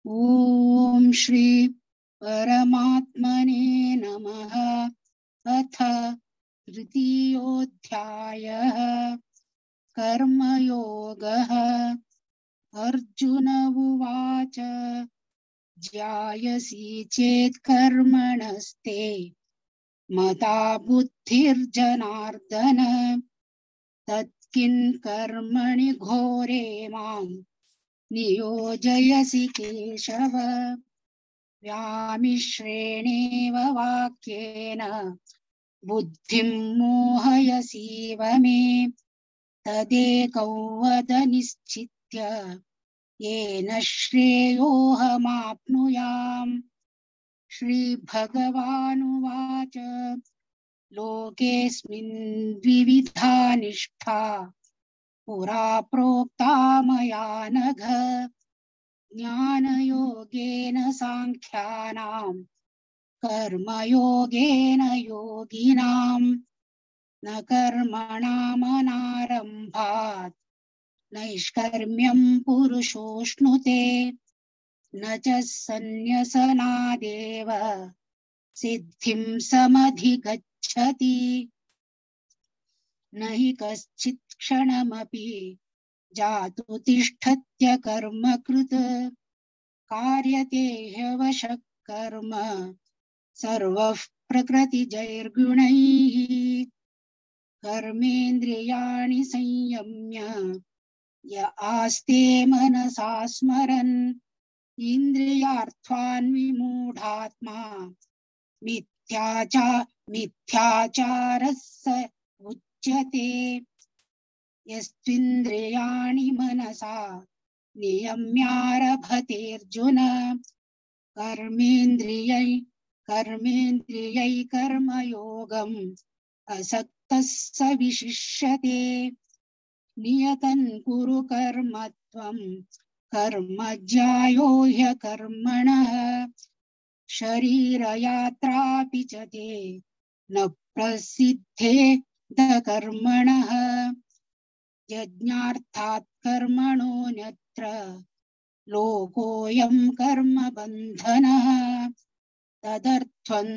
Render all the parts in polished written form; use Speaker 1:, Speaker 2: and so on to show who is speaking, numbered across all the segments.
Speaker 1: ओम श्री परमात्मने नमः। अथ तृतीयोऽध्यायः कर्मयोगः। अर्जुन उवाच ज्यायसि चेत् कर्मणस्ते मता बुद्धिर्जनार्दन तत्किन् कर्मणि घोरे मां नियोजयसि केशव। व्यामिश्रेणेव वाक्येन बुद्धिं मोहयसीव मे तदेकं वद निश्चित्य येन श्रेयोऽहमाप्नुयाम्। श्रीभगवानुवाच लोकेऽस्मिन् द्विविधा निष्ठा पुरा प्रोक्ता मया नघ ज्ञानयोगेन साङ्ख्यानां कर्मयोगेन योगिनाम् न कर्मणामनारम्भात् नैष्कर्म्यं पुरुषोऽश्नुते न च सन्न्यसनादेव सिद्धिं समधिगच्छति। न हि कश्चित् क्षणमपि जातु तिष्ठत्य कर्मकृत् कार्यते ह्यवशः कर्म सर्वः प्रकृतिजैर्गुणैः। कर्मेन्द्रियाणि संयम्य य आस्ते मनसा स्मरन् इन्द्रियार्थान् विमूढात्मा मिथ्याचारः स उच्यते। यस्त्विन्द्रियाणि मनसा नियम्यारभतेऽर्जुन कर्मेन्द्रियै कर्मयोगम् असक्तः स विशिष्यते। नियतं कुरु कर्म त्वं कर्म ज्यायो ह्यकर्मणः शरीरयात्रापि च ते न प्रसिद्धेद कर्मणः। यज्ञार्थात् कर्मणोऽन्यत्र लोकोऽयं कर्मबन्धनः तदर्थं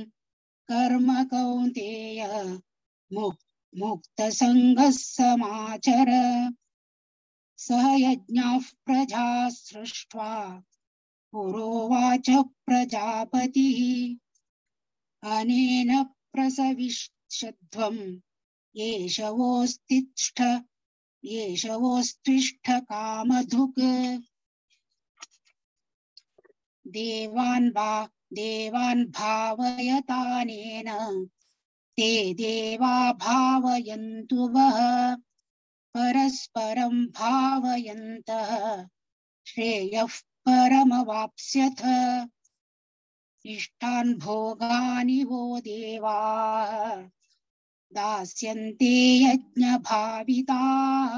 Speaker 1: कर्म कौन्तेय मुक्तसङ्गः समाचर। सह यज्ञाः प्रजा सृष्ट्वा पुरोवाच प्रजापतिः अनेन प्रसविष्यध्वं येषवोस्तिष्ठ कामधुक्। देवान् भावयतानेन ते देवा भावयन्तु वः परस्परं भावयन्तः श्रेयः परमवाप्स्यथ। इष्टान् भोगानि वो देवाः दास्यन्ते यज्ञभाविताः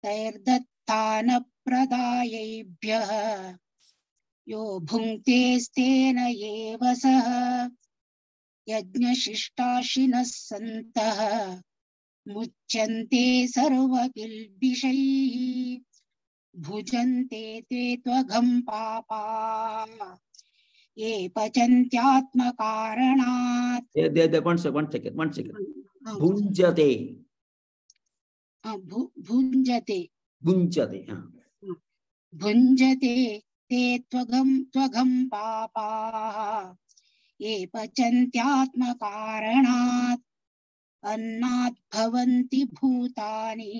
Speaker 1: तैर्दत्तानप्रदायैभ्यः यो भुङ्क्तेस्तेन एव सः। यज्ञशिष्टाशिनः सन्तः मुच्यन्ते सर्वकिल्बिषैः भुजन्ते ते त्वघं पापा ये पचन्त्यात्मकारणात्।
Speaker 2: One second. Bhunjate.
Speaker 1: भुञ्जते भुञ्जते ते त्वघं पापाः ये पचन्त्यात्मकारणात्। अन्नात् भवन्ति भूतानि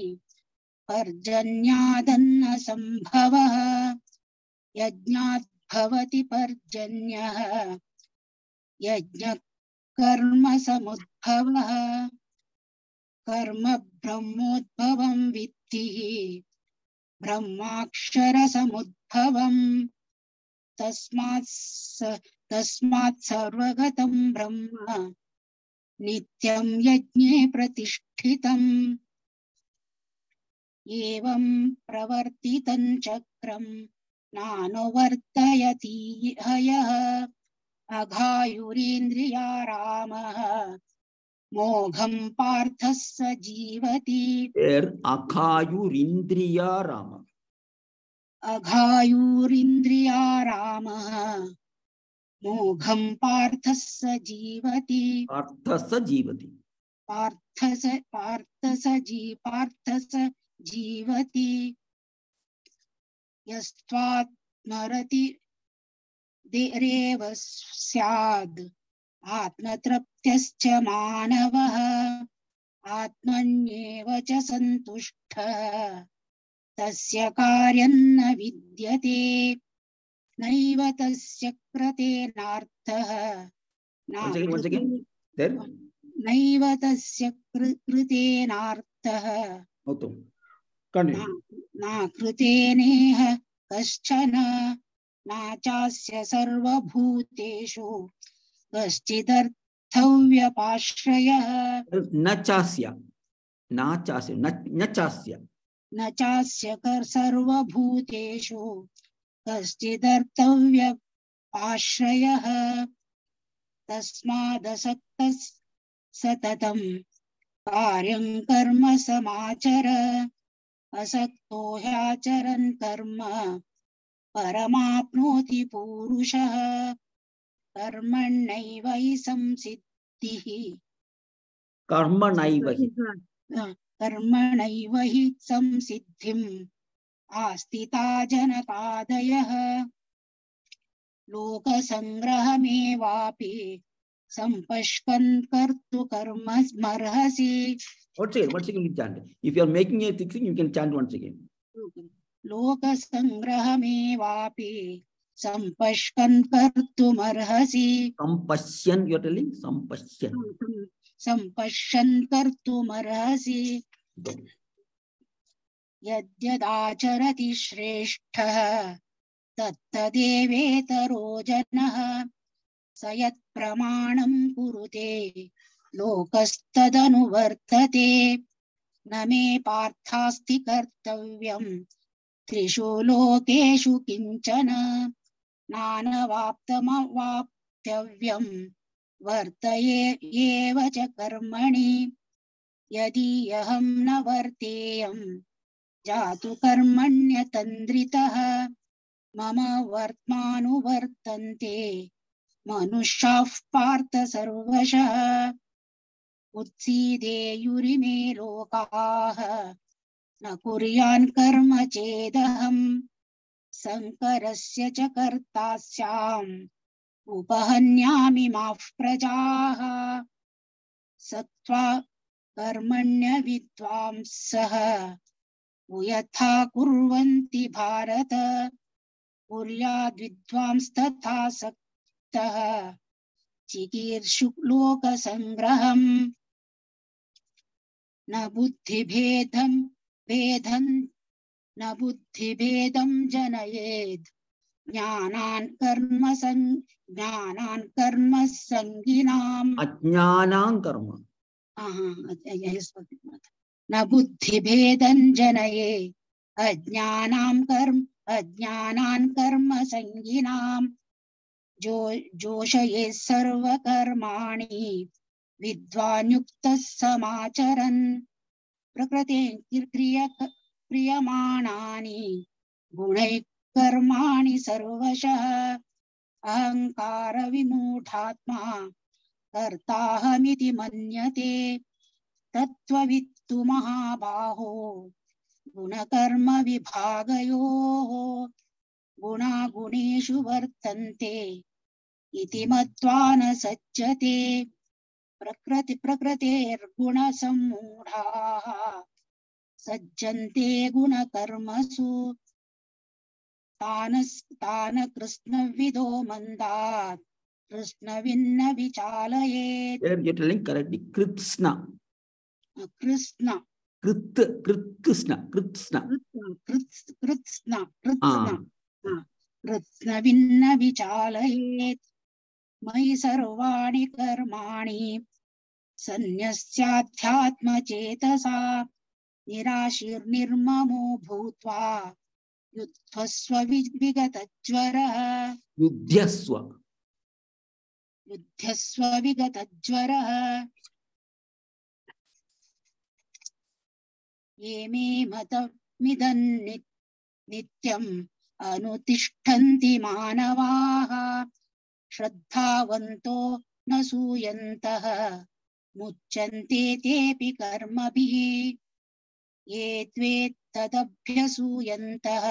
Speaker 1: पर्जन्यादन्न सम्भवः यज्ञात् भवति पर्जन्यः यज्ञः कर्म समुद्भवः। कर्म ब्रह्मोद्भवं विद्धि ब्रह्माक्षर समुद्भवम् तस्मात् सर्वगतं ब्रह्म नित्यं यज्ञे प्रतिष्ठितम्। एवं प्रवर्तितं चक्रं नानुवर्तयति हयः अघायुरिन्द्रियारामः मोघं पार्थः स जीवति।
Speaker 2: Akhayurindriya Rama.
Speaker 1: अघायुरिन्द्रियारामः मोघं पार्थः स जीवति
Speaker 2: पार्थः जीवति
Speaker 1: पार्थ स जीवति यस्त्वात्मरति देरेव स्याद् आत्मतृप्त्यश्च मानवः आत्मन्येव च सन्तुष्टः तस्य कार्यं न विद्यते नैव तस्य कृतेनार्थः
Speaker 2: once again there
Speaker 1: नैव तस्य कृतेनार्थः
Speaker 2: continue
Speaker 1: न कृतेनेह कश्चन नाचास्य सर्वभूतेषु कश्चिदर्थव्यपाश्रयः
Speaker 2: न चास्य
Speaker 1: न चास्य सर्वभूतेषु कश्चिदर्थव्यपाश्रयः तस्मादसक्तः सततं कार्यं कर्म समाचर असक्तो ह्याचरन् कर्म परमाप्नोति पूरुषः कर्मण्यैव हि संसिद्धिः कर्मणैव हि संसिद्धिम् आस्तिता जनकादयः लोकसंग्रहमेवापि सम्पश्कन् कर्तु कर्ममर्हसि
Speaker 2: once again you chant if you are making a thing you can chant once again
Speaker 1: लोकसंग्रहमेवापि सम्पश्कन् कर्तुमर्हसि
Speaker 2: sampashyan you are telling
Speaker 1: सम्पश्यन् कर्तुमर्हसि यद्यदाचरति श्रेष्ठः तत्तदेवेतरो जनः स यत्प्रमाणं कुरुते लोकस्तदनुवर्तते न मे पार्थास्ति कर्तव्यं त्रिषु लोकेषु किञ्चन नानवाप्तमवाप्तव्यं वर्तयेव च कर्मणि यदि अहं न वर्तेयं जातु कर्मण्यतन्द्रितः मम वर्त्मानुवर्तन्ते मनुष्याः पार्थ सर्वशः उत्सीदेयुरिमे लोकाः न कुर्यान् कर्म चेदहम् संकरस्य च कर्ता स्याम् उपहन्यामि माः प्रजाः सत्त्वा कर्मण्य विद्वांसः यथा कुर्वन्ति भारत कुर्याद्विद्वांस्तथा सक्तः चिकीर्षु लोकसंग्रहम् न बुद्धिभेदं जनयेत् ज्ञानान् कर्म संगिनाम्
Speaker 2: अज्ञानां कर्म
Speaker 1: न बुद्धिभेदं जनयेत् अज्ञानान् कर्म संगिनाम् जोषयेत् सर्वकर्माणि विद्वान् युक्तः समाचरन् प्रकृते क्रियमाणानि गुणैः कर्माणि सर्वशः अहंकार विमूढात्मा कर्ताहमिति मन्यते तत्त्ववित्तु महाबाहो गुणकर्म विभागयोः गुणा गुणेषु वर्तन्ते इति मत्वा न सज्जते प्रकृतेर्गुणसम्मूढाः सज्जन्ते गुणकर्मसु तान कृष्णविदो मन्दात् कृष्णविन्न विचालयेत्
Speaker 2: there you are telling correctly krishna
Speaker 1: Krishna कृष्णविन्न विचालयेत् मयि सर्वाणि कर्माणि सन्न्यस्याध्यात्मचेतसा निराशीर्निर्ममो भूत्वा युद्धस्व विगतज्वरः युद्धस्व विगतज्वरः ये मे मतमिदं नित्यं अनुतिष्ठन्ति मानवाः श्रद्धावन्तो न सूयन्तः मुच्यन्ते तेऽपि कर्मभिः ये त्वेतदभ्यसूयन्तः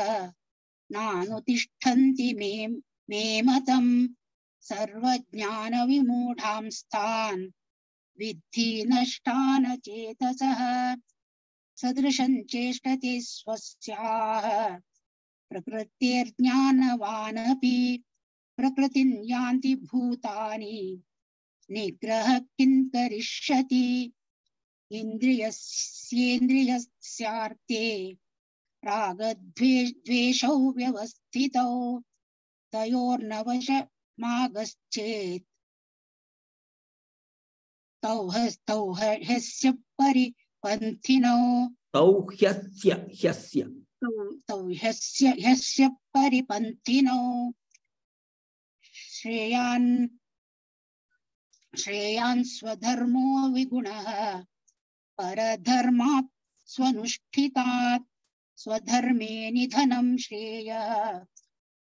Speaker 1: नानुतिष्ठन्ति मे मतम् सर्वज्ञानविमूढांस्तान् विद्धि नष्टान चेतसः सदृशं चेष्टते स्वस्याः प्रकृतेर्ज्ञानवानपि प्रकृतिं यान्ति भूतानि निग्रह किं करिष्यति इन्द्रियस्येन्द्रियस्यार्थे रागद्वेषौ व्यवस्थितौ तयोर्नवशमागच्छेत् तौ ह्यस्य परिपन्थिनौ तौ ह्यस्य परिपन्थिनौ श्रेयान् स्वधर्मो विगुणः परधर्मात् स्वनुष्ठितात् स्वधर्मे निधनं श्रेयः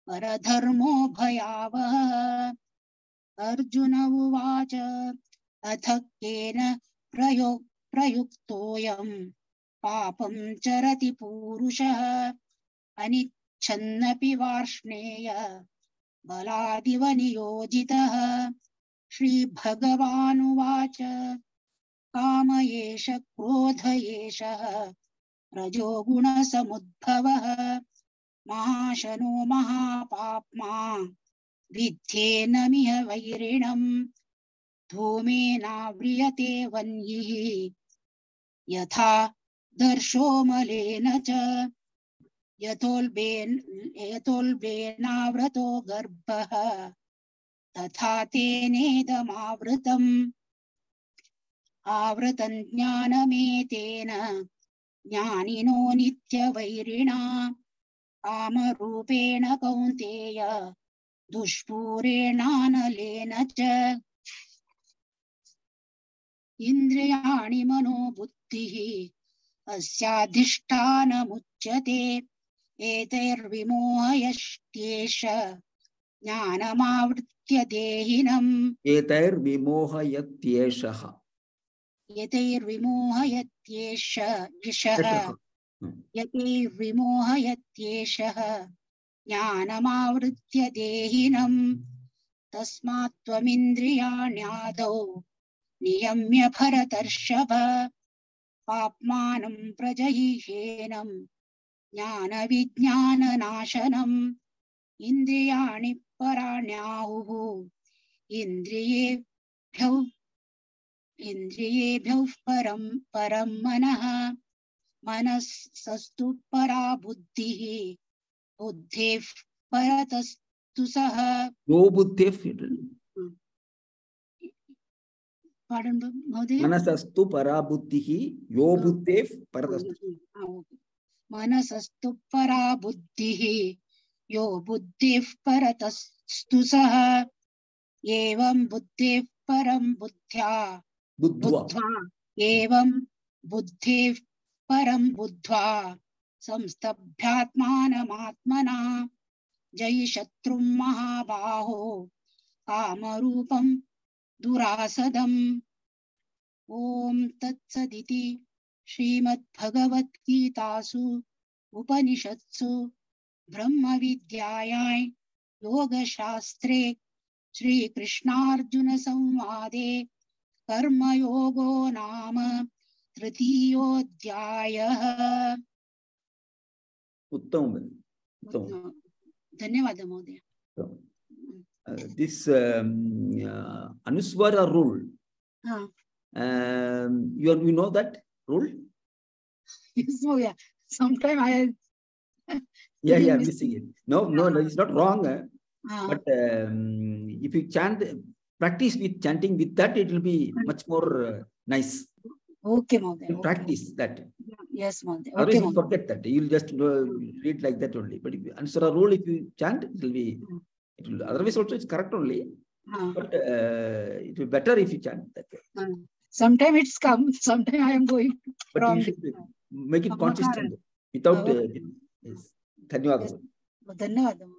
Speaker 1: परधर्मो भयावहः अर्जुन उवाच अथ केन प्रयुक्तोऽयं पापं चरति पूरुषः अनिच्छन्नपि वार्ष्णेय बलादिव नियोजितः श्रीभगवानुवाच काम एष क्रोध एषः रजोगुणसमुद्भवः महाशनो महापाप्मा विद्धेनमिह वैरिणम् धूमेनाव्रियते वह्निः यथा दर्शो मलेन च यतोल्बेनावृतो गर्भः तथा तेनेदमावृतम् आवृतं ज्ञानमेतेन ज्ञानिनो नित्यवैरिणा कामरूपेण कौन्तेय दुष्पूरेणानलेन च इन्द्रियाणि मनोबुद्धिः अस्याधिष्ठानमुच्यते एतैर्विमोहयत्येष ज्ञानमावृत्य देहिनम्
Speaker 2: एतैर्विमोहयत्येषः
Speaker 1: यतैर्विमोहयत्येषः ज्ञानमावृत्य देहिनम् तस्मात् त्वमिन्द्रियाण्यादौ नियम्य भरतर्षभ पाप्मानं प्रजहिह्येनं ज्ञानविज्ञाननाशनम् इन्द्रियाणि पराण्याहुः इन्द्रियेभ्यः परं मनः मनसस्तु परा बुद्धिः बुद्धेः परतस्तु सः
Speaker 2: यो बुद्धिः मनसस्तु परा बुद्धिः यो बुद्धेः परतस्तु
Speaker 1: मनसस्तु परा बुद्धिः यो बुद्धेः परतस्तु सः एवं बुद्धेः परं बुद्ध्वा एवं बुद्धेः परं बुद्ध्वा संस्तभ्यात्मानमात्मना जयि शत्रुं महाबाहो कामरूपं दुरासदम् ओम तत्सदिति श्रीमद्भगवद्गीतासु उपनिषत्सु ब्रह्मविद्यायां योगशास्त्रे श्रीकृष्णार्जुन संवादे कर्मयोगो नाम तृतीयोऽध्यायः।
Speaker 2: उत्तम।
Speaker 1: धन्यवाद महोदय।
Speaker 2: This Anuswara rule, you know that rule?
Speaker 1: Yes, oh yeah. Sometimes I
Speaker 2: missing it. No, it's not wrong. But if you practice with chanting with that, it will be much more nice.
Speaker 1: Okay, Mother.
Speaker 2: Practice that.
Speaker 1: Yes, Mother.
Speaker 2: Otherwise, you forget that. You'll just read like that only. But if you answer a rule, if you chant, it will be. It will. Otherwise, also it's correct only. But it will be better if you chant that way.
Speaker 1: Sometimes it's come. Sometimes I am going.
Speaker 2: But you should make it consistent without. Yes. Dhanyawad.
Speaker 1: ధన్యవాదం.